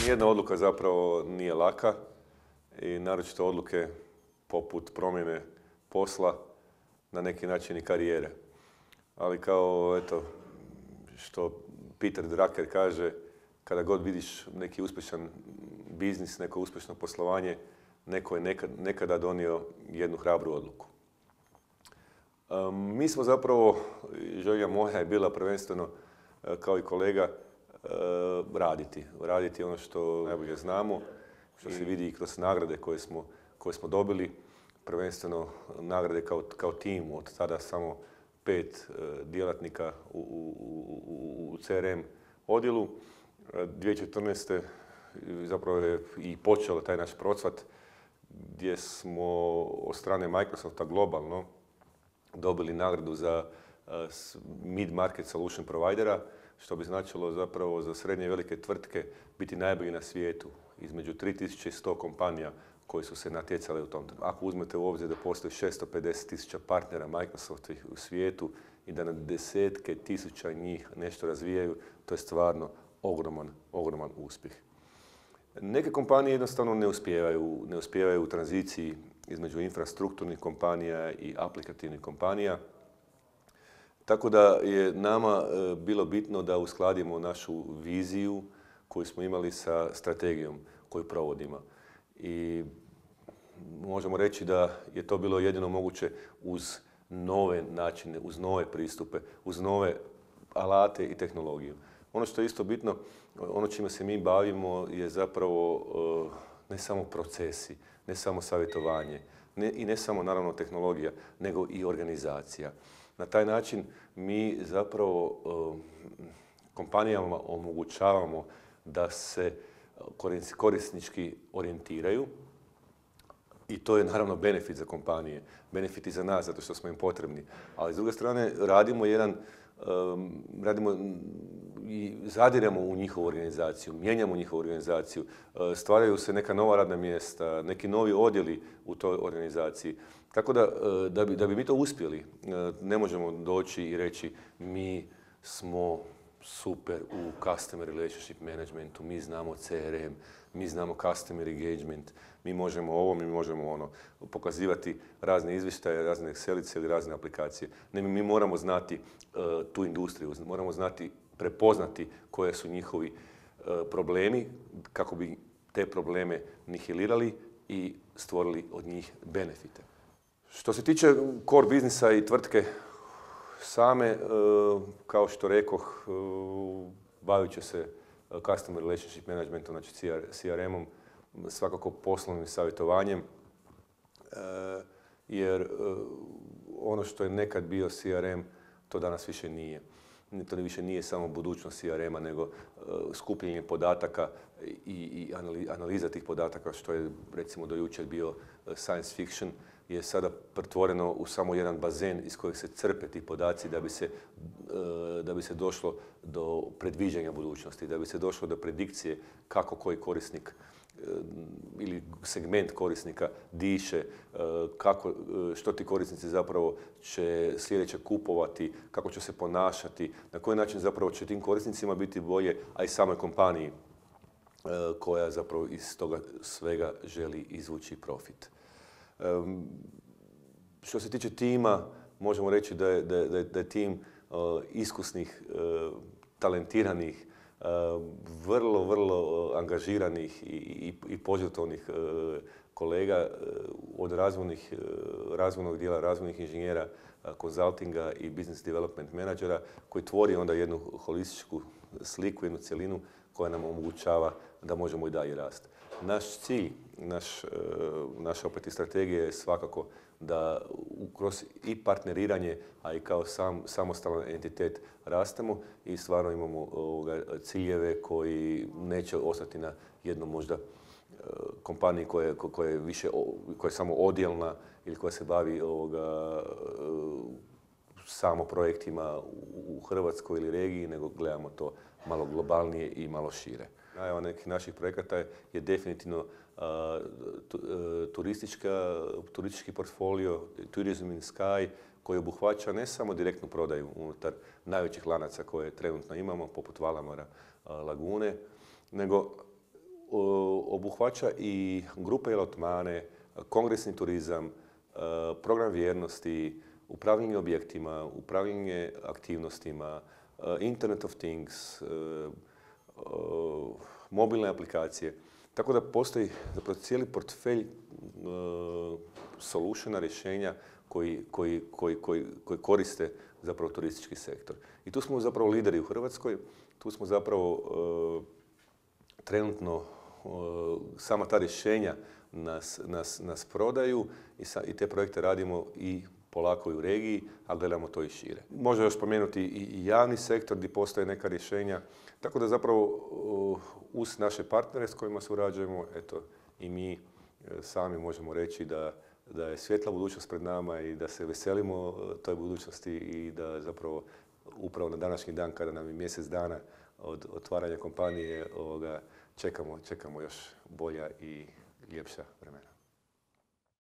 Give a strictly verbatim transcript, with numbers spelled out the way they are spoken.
Nijedna odluka zapravo nije laka i naročito odluke poput promjene posla, na neki način i karijere. Ali kao, eto, što Peter Drucker kaže, kada god vidiš neki uspješan biznis, neko uspješno poslovanje, neko je nekad, nekada donio jednu hrabru odluku. Um, mi smo zapravo, želja moja je bila prvenstveno, kao i kolega, uh, raditi. Raditi ono što najbolje znamo, što se vidi i kroz nagrade koje smo, koje smo dobili. Prvenstveno nagrade kao, kao tim, od tada samo pet uh, djelatnika u, u, u C R M odjelu. dvije tisuće četrnaeste. zapravo je i počeo taj naš procvat gdje smo od strane Microsofta globalno dobili nagradu za uh, mid-market solution providera, što bi značilo zapravo za srednje i velike tvrtke biti najbolji na svijetu, između tri tisuće sto kompanija koji su se natjecali u tom. Ako uzmete u obzir da postoji šesto pedeset tisuća partnera Microsofta u svijetu i da na desetke tisuća njih nešto razvijaju, to je stvarno ogroman, ogroman uspjeh. Neke kompanije jednostavno ne uspijevaju, ne uspijevaju u tranziciji između infrastrukturnih kompanija i aplikativnih kompanija. Tako da je nama e, bilo bitno da uskladimo našu viziju koju smo imali sa strategijom koju provodimo. I možemo reći da je to bilo jedino moguće uz nove načine, uz nove pristupe, uz nove alate i tehnologiju. Ono što je isto bitno, ono čime se mi bavimo je zapravo ne samo procesi, ne samo savjetovanje ne, i ne samo naravno tehnologija, nego i organizacija. Na taj način mi zapravo kompanijama omogućavamo da se korisnički orijentiraju i to je naravno benefit za kompanije, benefit i za nas zato što smo im potrebni. Ali s druge strane radimo jedan Um, radimo i zadiremo u njihovu organizaciju, mijenjamo njihovu organizaciju, uh, stvaraju se neka nova radna mjesta, neki novi odjeli u toj organizaciji. Tako da, uh, da, bi, da bi mi to uspjeli, uh, ne možemo doći i reći mi smo super u Customer Relationship Managementu, mi znamo C R M, mi znamo Customer Engagement, mi možemo ovo, mi možemo ono, pokazivati razne izvještaje, razne Excelice ili razne aplikacije. Ne, mi moramo znati uh, tu industriju, moramo znati, prepoznati koje su njihovi uh, problemi, kako bi te probleme nihilirali i stvorili od njih benefite. Što se tiče core biznisa i tvrtke same, uh, kao što rekoh, uh, bavit će se Customer Relationship Managementom, znači C R M-om, svakako poslovnim savjetovanjem, jer ono što je nekad bio C R M, to danas više nije. To više nije samo budućnost C R M-a, nego skupljenje podataka i analiza tih podataka, što je recimo do jučer bio science fiction, je sada pretvoreno u samo jedan bazen iz kojeg se crpe ti podaci da bi se, da bi se došlo do predviđanja budućnosti, da bi se došlo do predikcije kako koji korisnik ili segment korisnika diše, kako, što ti korisnici zapravo će sljedeće kupovati, kako će se ponašati, na koji način zapravo će tim korisnicima biti bolje, a i samoj kompaniji koja zapravo iz toga svega želi izvući profit. Um, što se tiče tima, možemo reći da je, da je, da je tim uh, iskusnih, uh, talentiranih, uh, vrlo, vrlo uh, angažiranih i, i, i požrtvovnih uh, kolega uh, od razvojnih, uh, razvojnog dijela, razvojnih inženjera, uh, konzultinga i business development menadžera koji tvori onda jednu holističku sliku, jednu cjelinu koja nam omogućava da možemo i dalje rasti. Naš cilj, naš, naša opet i strategija je svakako da kroz i partneriranje, a i kao sam, samostalan entitet rastemo i stvarno imamo ovoga, ciljeve koji neće ostati na jednom možda kompaniji koja, koja, je više, koja je samo odjelna ili koja se bavi ovoga, samo projektima u Hrvatskoj ili regiji, nego gledamo to malo globalnije i malo šire. Najava nekih naših projekata je definitivno uh, tu, uh, turistička, turistički portfolio, Tourism in Sky, koji obuhvaća ne samo direktnu prodaju unutar najvećih lanaca koje trenutno imamo, poput Valamara, uh, Lagune, nego obuhvaća i grupe i lotmane, kongresni turizam, program vjernosti, upravljanje objektima, upravljanje aktivnostima, Internet of Things, mobilne aplikacije. Tako da postoji zapravo cijeli portfelj solutiona, rješenja koji, koji, koji, koji, koji koriste zapravo turistički sektor. I tu smo zapravo lideri u Hrvatskoj, tu smo zapravo trenutno sama ta rješenja nas, nas, nas prodaju i, sa, i te projekte radimo i polako i u regiji, a gledamo to i šire. Može još spomenuti i javni sektor gdje postoje neka rješenja, tako da zapravo uz naše partnere s kojima surađujemo, eto i mi sami možemo reći da, da je svjetla budućnost pred nama i da se veselimo toj budućnosti i da zapravo upravo na današnji dan kada nam je mjesec dana od otvaranja kompanije ovoga, čekamo, čekamo još bolja i ljepša vremena.